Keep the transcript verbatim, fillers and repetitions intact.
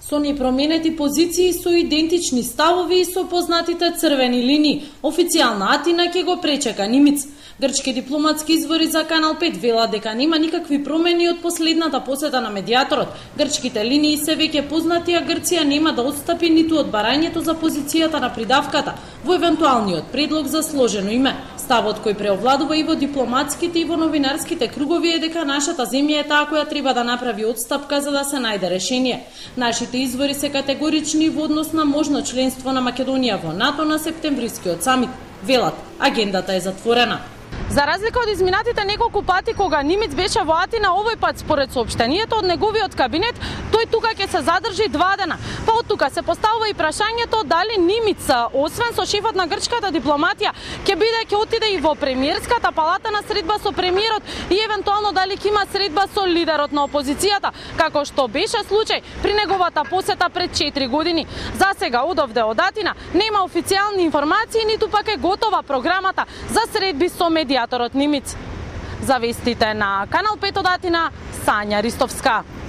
Со непроменети позиции, со идентични ставови и со познатите црвени линии, официјална Атина ќе го пречека Нимиц. Грчки дипломатски извори за Канал пет велат дека нема никакви промени од последната посета на медијаторот. Грчките линии се веќе познати, а Грција нема да отстапи ниту од барањето за позицијата на придавката во евентуалниот предлог за сложено име. Ставот кој преовладува и во дипломатските и во новинарските кругови е дека нашата земја е таа која треба да направи отстапка за да се најде решение. Нашите извори се категорични во однос на можно членство на Македонија во НАТО на септемврискиот самит. Велат, агендата е затворена. За разлика од изминатите неколку пати кога Нимиц беше во Атина, овој пат според соопштението од неговиот кабинет, тој тука ќе се задржи два дена. Па од тука се поставува и прашањето дали Нимиц, освен со шефот на грчката дипломатија, ќе биде ќе отиде и во премиерската палата на средба со премиерот и евентуално дали ќе има средба со лидерот на опозицијата, како што беше случај при неговата посета пред четири години. За сега одовде од Атина нема официјални информации, ниту пак е готова програмата за средби со медијаторот Нимиц. За вестите на Канал пет од Атина, Сања Ристовска.